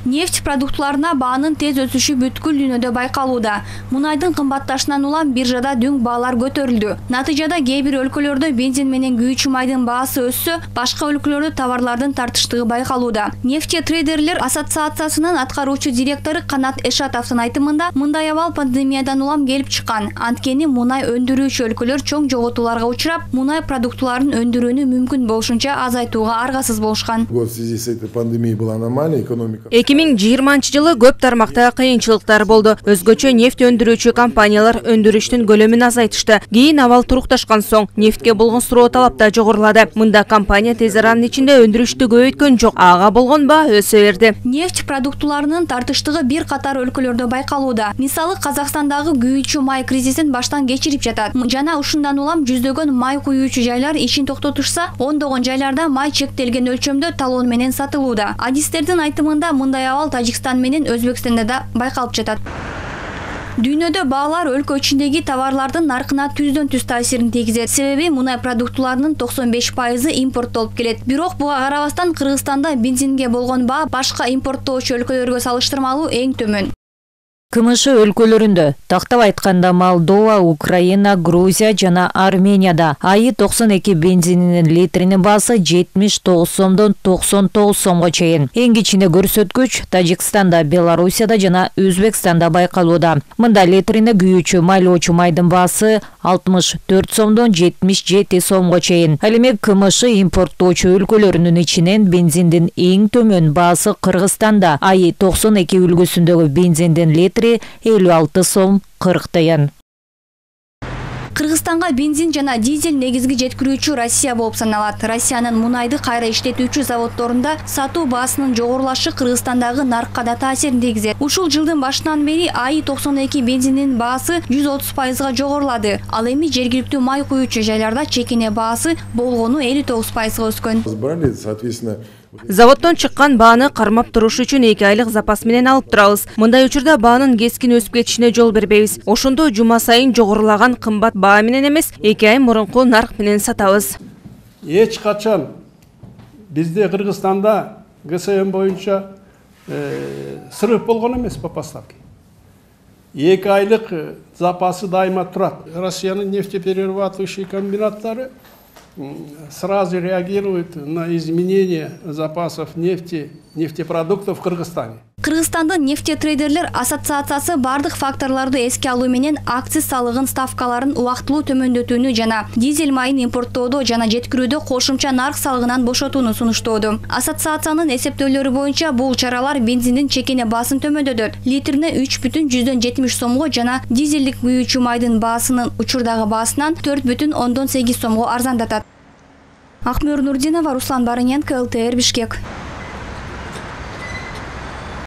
Нефть продуктларына баанын тез өсүшү бүткүл дүйнөдө байкалууда. Мунайдын кымбатташынан улам биржада дөң баалар көтөрүлдү. Натыйжада кээ бир өлкөлөрдө бензин менен күйүүчү майдын баасы өссө, башка өлкөлөрдө товарлардын тартыштыгы байкалууда. Нефтетрейдерлер ассоциациясынын аткаруучу директору Канат Эшатовдун айтымында, мындай абал пандемиядан улам келип чыккан. Анткени мунай өндүрүүчү өлкөлөр чоң жоготууларга учурап, мунай продуктларын өндүрүүнү мүмкүн болушунча азайтууга аргасыз болушкан. В связи с этой пандемией была аномалия экономика. 2020 жылы көп тармакта кыйынчылыктар болду. Өзгөчө нефть өндүрүүчү компаниялар өндүрүштүн көлөмүн азайтышты. Кийин абал турукташкан соң нефтке болгон суроо талап да жогорулады. Мында компания тез аранын ичинде өндүрүштү көбөйткөн жок. Ага болгон баа өсө берди. Нефть продуктларынын тартыштыгы бир катар өлкөлөрдө байкалууда. Мисалы, Казакстандагы күйүүчү май кризисин баштан кечирип жатат. Жана ушундан улам жүздөгөн май күйүүчү жайлар ишин токтотушса, ондогон жайларда май чектелген өлчөмдө талон менен сатылууда. Адистердин айтымында, мындай абал Тажикстан менен Өзбекстанда да байкалып жатат. Дүйнөдө баалар өлкө ичиндеги товарлардын наркына түздөн түз таасирин тийгизет. Себеби мунай продуктларынын 95% импорттолуп келет. Бирок буга карабастан Кыргызстанда бензинге болгон баа башка импорттоочу өлкөлөргө салыштырмалуу эң төмөн. КМШ өлкөлөрүндө, тактап айтканда Молдова, Украина, Грузия жана Арменияда айы 92 бензининин литринин баасы 79 сомдон 99 сомго чейин. Эң кичине көрсөткүч Тажикстанда, Белоруссияда жана Өзбекстанда байкалууда. Мында литрине күйүүчү майлоочу майдын баасы 64 сомдон 77 сомго чейин. Ал эми КМШ импорттоочу өлкөлөрүнүн ичинен бензиндин эң төмөн баасы Кыргызстанда айы 92 үлгүсүндөгү бензиндин литри 56 сом 40 тыйын. Кыргызстанга бензин жана дизель негизги жеткирүүчү Россия болуп саналат. Россиянын мунайды кайра иштетүүчү заводдорунда сатуу баасынын жогорулашы Кыргызстандагы наркка да таасирин тийгизет. Ушул жылдын башынан бери айы 92 бензиндин баасы 130%га жогорулады. Ал эми жергиликтүү май күйүүчү жайларда чекине баасы болгону 59%га өскөн. Соответственно, Заводдон чыккан бааны кармап туруш үчүн 2 айлык запас менен алып турабыз. Мындай учурда баанын кескин өсүп кетишине жол бербейбиз. Ошондо жума сайын жогорулаган кымбат баа менен эмес, 2 ай мурунку нарк менен сатабыз. Эч качан бизде Кыргызстанда ГСМ боюнча срыв болгон эмес по поставке. 2 айлык запасы дайыма турат. Россиянын нефтеперерабатывающий комбинаттары сразу реагирует на изменение запасов нефти, нефтепродуктов в Кыргызстане. Кыргызстандын нефтетрейдерлер ассоциациясы бардык факторлорду эске алуу менен акциз салыгын ставкаларын убактылуу төмөндөтүүнү жана дизель майын импорттоодо жана жеткирүүдө кошумча нарк салыгынан бошотууну сунуштоодо. Ассоциациянын эсептөөлөрү боюнча бул чаралар бензиндин чекине баасын төмөндөтөт. Литрине 3,70 сомго жана дизелдик күйүүчү майдын баасынын учурдагы баасынан 4,8 сомго арзандатат. Акмөр Нурдинова, Руслан Барыненко, ЛТР, Бишкек.